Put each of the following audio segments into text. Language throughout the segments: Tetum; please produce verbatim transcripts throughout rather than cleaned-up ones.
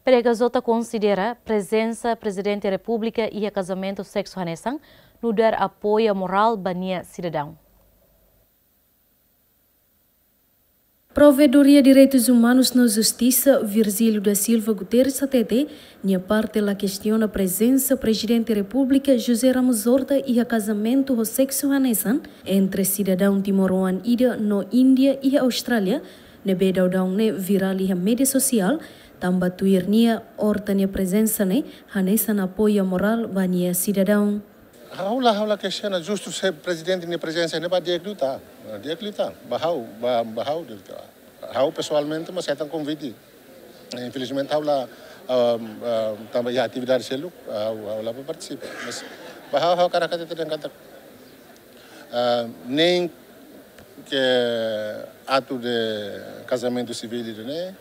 P D H J konsidera prezensa Prezidente Repúblika iha kazamentu seksu hanesan nu'udar apoia morál ba nia sidadaun. Provedoria Direitus Umanus no Justisa, Virgílio da Silva Guterres hatete, nia parte la kestiona prezensa Prezidente Repúblika José Ramos Horta iha kazamentu ho seksu hanesan entre sidadaun timoroan ida no Índia iha Austrália, ne'ebé daudaun ne'e virál iha média sosiál, tanba tuir nia Horta nia prezensa ne'e hanesan apoia morál ba nia sidadaun. Ha'u la, ha'u la kestiona, justu se prezidente nia prezensa ne'e ba di'ak liután. Di'ak liután. Ba ha'u, ba, ba ha'u di'ak liután. Ha'u pesoalmente mós hetan konvite. Infelizmente ha'u la, ah, ah, tanba iha atividade seluk, ha'u, ha'u la bá partisipa. Mas ba ha'u, ha'u hakarak hatete dehan katak, ah, nein ke aktu de kazamentu sivíl ne'e,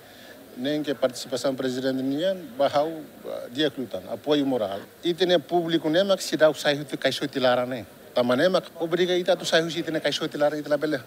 nein ke partisipasaun prezidente nian, ba ha'u, ah, di'ak liután, apoiu morál. Ita-nia públiku ne'e mak seidauk sai husi kaixote laran ne'e. Tanba ne'e mak obriga ita atu sai husi ita-nia kaixote laran, ita labele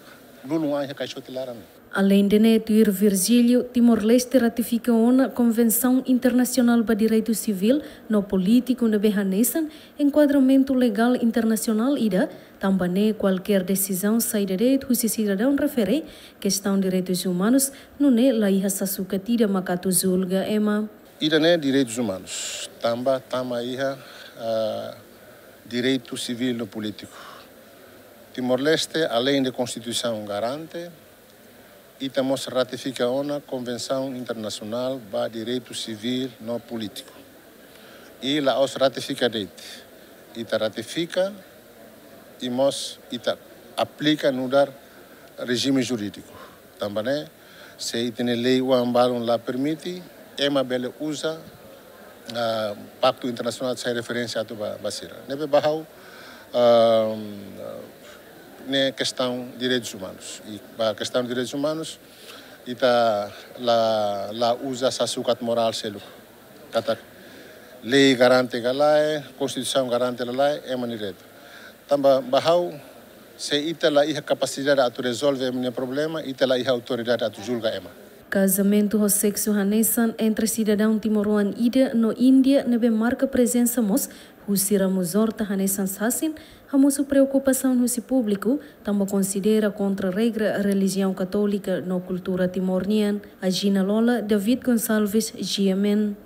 lulun an iha kaixote laran ne'e. Aleinde ne'e, tuir Virgílio, Timor-Leste ratifika ona Konvensaun Internasionál ba Direitu Sivíl no Polítiku ne'ebé hanesan enkuadramentu legál internasionál ida, tanba ne'e kualkér desizaun saida de'it husi sidadaun refere kestaun direitus umanus, nune'e la iha sasukat ida mak atu julga ema. Ida-ne'e direitus umanus, tanba tama iha, ah, direitu sivíl no polítiku. Timor-Leste, aleinde Konstituisaun garante, ita mós ratifika ona Konvensaun Internasionál ba Direitu Sivíl no Polítiku. I la'ós ratifika de'it. Ita ratifika i mós ita aplika nu'udar rejime jurídiku. Tanba ne'e, se ita-nia lei oan balun la permite, ema bele uza, ah, paktu internasionál sai referénsia atu ba, ba sira. Ne'ebé ba ha'u, ah, ne'e kestaun direitus umanus. I ba kestaun direitus umanus, ita la, la uza sasukat morál seluk. Katak lei garante ka lae, Konstituisaun garante ka lae, ema nia direitu. Tanba ba ha'u, se ita la iha kapasidade atu rezolve ema nia problema, ita la iha autoridade atu julga ema. Kazamentu ho seksu hanesan entre sidadaun timoroan ida no Índia ne'ebé marka prezensa mós husi Ramos Horta hanesan sasin, hamosu preokupasaun husi públiku, tanba konsidera kontra regra relijiaun katólika no kultura Timor nian. Agina Lola, David Gonçalves, G M N.